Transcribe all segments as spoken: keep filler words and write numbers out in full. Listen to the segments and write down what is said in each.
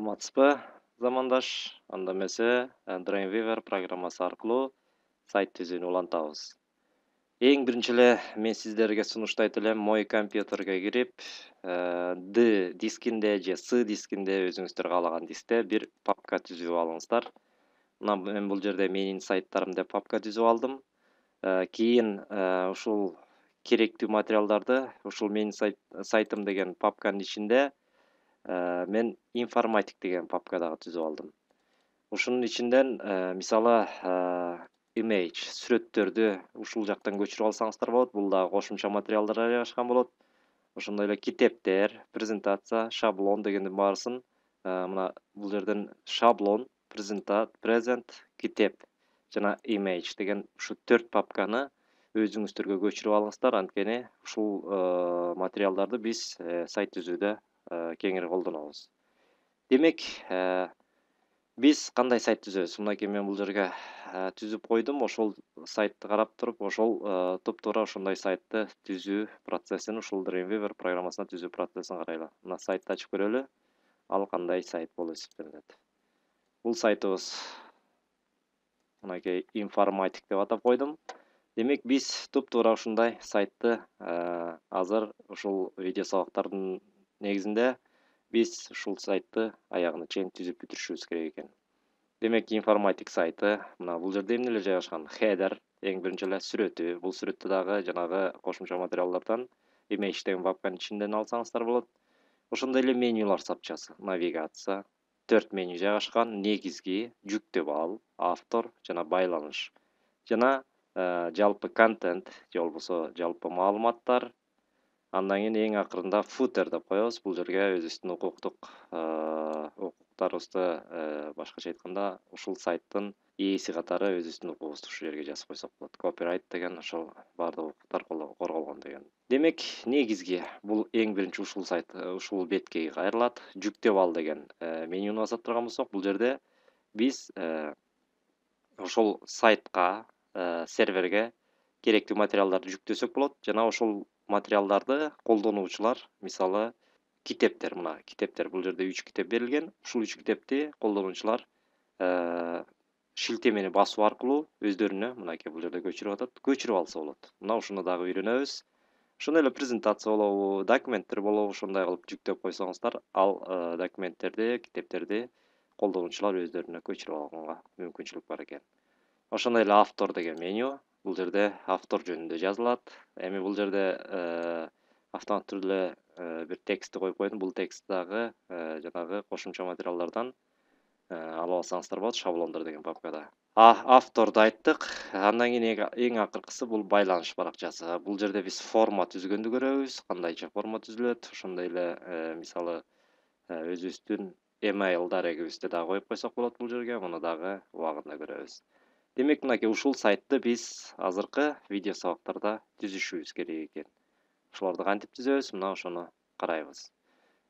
Саламатсызбы, замандаш? Анда эмесе, Dreamweaver программасы аркылуу сайт түзүүнү улантабыз. Эң биринчи эле мен сиздерге сунуштайт элем, мой компьютерге кирип, D дискинде же C дискинде өзүңүздөр каалаган дискте бир папка түзүп алыңыздар. Мына мен бул жерде менин сайттарым деп папка түзүп алдым. Кийин ушул керектүү материалдарды ушул менин сайтым деген папканын ичинде мен информатик деген папка дагы түзүп алдым. Ушунун ичинден мисалы image сүрөттөрдү ушул жактан көчүрүп алсаңыздар болот. Бул дагы кошумча материалдар жайгашкан болот. Ошондой эле китептер, презентация, шаблон дегендин баарысын мына бул жерден шаблон, презент, китеп жана image деген ушу төрт папканы өзүңүздөргө көчүрүп алыңыздар. Анткени ушул материалдарды биз сайт түзүүдө кеңири колдонобуз. Демек, биз кандай сайт түзөбүз? Мынакей мен бул жерге түзүп койдум. Ошол сайтты карап туруп, ошол туп-туура ошондой сайтты түзүү процессин, ушул Dreamweaver программасына түзүү процессин карайлы. Мына сайтты ачып көрөлү. Ал кандай сайт болуп эсептелет. Бул сайтыбыз мынакей информатик деп атап койдум. Демек, биз туп-туура ушундай сайтты азыр ушул видео сабактардын негизинде биз ушул сайтты аягына чейин түзүп бүтүрүшүбүз керек экен. Демек, информатик сайты мына бул жерде эмнелер жайгашкан? Header, эң биринчи эле сүрөтү. Бул сүрөттү дагы жанагы кошумча материалдардан image деген папканын ичинен алсаңыздар болот. Ошондой эле менюлар сапчасы, навигация, төрт меню жайгашкан: негизги, жүктөп ал, автор жана байланыш. Жана жалпы контент же болбосо жалпы маалыматтар. Андан кийин эң акырында footer деп коебуз. Бул жерге өзүбүздүн укуктук укуктарыбызды башкача айтканда ушул сайттын ээси катары өзүбүздүн укугубузду ушул жерге жазып койсок болот. Copyright деген ошол баардык укуктар корголгон деген. Демек, негизги бул эң биринчи ушул сайт, ушул бетке кайрылат. Жүктөп ал деген менюну басып турган болсок, бул жерде биз ошол сайтка, серверге керектүү материалдарды жүктөсөк болот. Жана ошол материалдарды колдонуучулар, мисалы, китептер, мына китептер, бул жерде үч китеп берилген. Ушул үч китепти колдонуучулар шилтемени басуу аркылуу өздөрүнө, мынакей бул жерде көчүрүп атат, көчүрүп алса болот. Мына ушуну дагы үйрөнөбүз. Ошондой эле презентация болобу, документтер болобу, ошондой кылып жүктөп койсоңуздар, ал документтерди, китептерди колдонуучулар өздөрүнө көчүрүп алганга мүмкүнчүлүк бар экен. Ошондой эле автор деген меню. Бул жерде автор жөнүндө жазылат. Эми бул жерде автоматтуу түрдө бир текстти коюп койдум. Бул текст дагы жанагы кошумча материалдардан алып алсаңыздар болот, шаблондор деген папкада. Авторду айттык. Андан кийин эң акыркысы бул байланыш баракчасы. Бул жерде биз форма түзгөндү көрөбүз. Кандайча форма түзүлөт. Ошондой эле мисалы өзүбүздүн email дарегибизди дагы коюп койсок болот бул жерге. Муну дагы убагында көрөбүз. Демек, мынакей ушул сайтты биз азыркы видео сабактарда түзүшүбүз керек экен. Ошолорду кантип түзөбүз? Мына ошону карайбыз.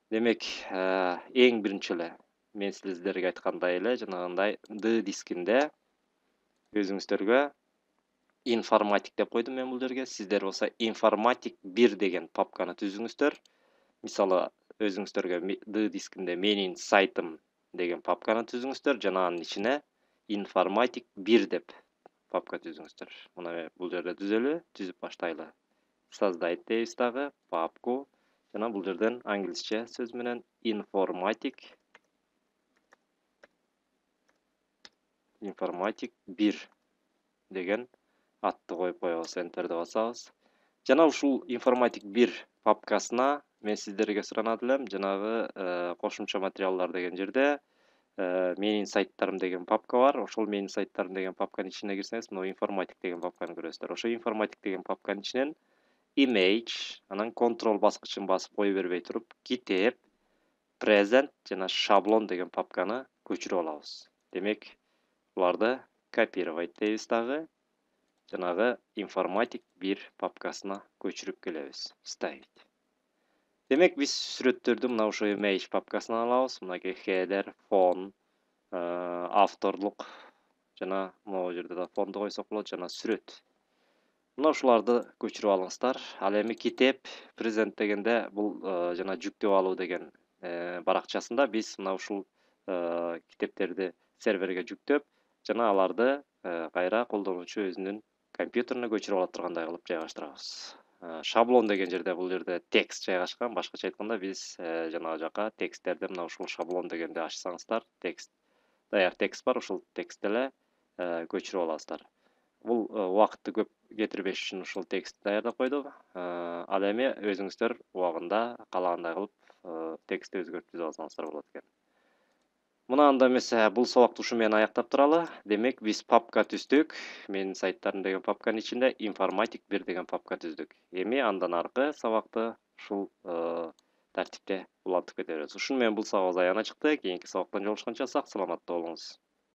Демек, эң биринчи эле мен сиздерге айткандай эле жанагындай D дискинде өзүңүздөргө информатик деп койдум мен бул жерге. Сиздер болсо информатик бир деген папканы түзүңүздөр. Мисалы, өзүңүздөргө D дискинде менин сайтым деген папканы түзүңүздөр. Жана анын ичине информатик бир деп папка түзүңүздөр. Мына бул жерде түзөлү, түзүп баштайлы. Создать дейбиз дагы папку. Жана бул жерден англисче сөз менен информатик информатик бир деген атты коюп коебуз, enterди басабыз. Жана ушул информатик бир папкасына мен сиздерге суранат элем, жанагы кошумча материалдар деген жерде менин сайттарым деген папка бар. Ошол менин сайттарым деген папканын ичине кирсеңиз, мына информатик деген папканы көрөсүздөр. Ошо информатик деген папканын ичинен image, анан control баскычын басып кое бербей туруп, китеп, present жана шаблон деген папканы көчүрүп алабыз. Демек, буларды копировать дейбиз дагы. Жанагы информатик бир папкасына көчүрүп келебиз. Вставить. Демек, биз сүрөттөрдү мына ошо image папкасынан алабыз. Мынакей header, фон, авторлук жана могу жерде да фонду койсок болот, жана сүрөт. Мына ушуларды көчүрүп алыңыздар. Ал эми китеп, презент дегенде бул жана жүктөп алуу деген баракчасында биз мына ушул китептерди серверге жүктөп жана аларды кайра колдонуучу өзүнүн компьютерине көчүрүп ала тургандай кылып жайгаштырабыз. Шаблон деген жерде бул жерде текст жайгашкан. Башкача айтканда биз жанагы жака тексттерди мына ушул шаблон дегенди ачсаңыздар, текст даяр текст бар, ушул текстти эле көчүрүп аласыздар. Бул убакытты көп кетирбеш үчүн ушул текстти даярдап койдук. Ал эми өзүңүздөр убагында каалагандай кылып текстти өзгөртүп алсаңыздар болот экен. Мына анда эмесе бул сабакты ушу менен аяктап туралы. Демек биз папка түздүк. Менин сайттарым деген папканын ичинде информатик бир деген папка түздүк. Эми андан аркы сабакты ушул тартипте улантып кетебиз. Ушуну менен бул сабагыбыз аягына чыкты. Кийинки сабактан жолугушканча сак саламатта болуңуз.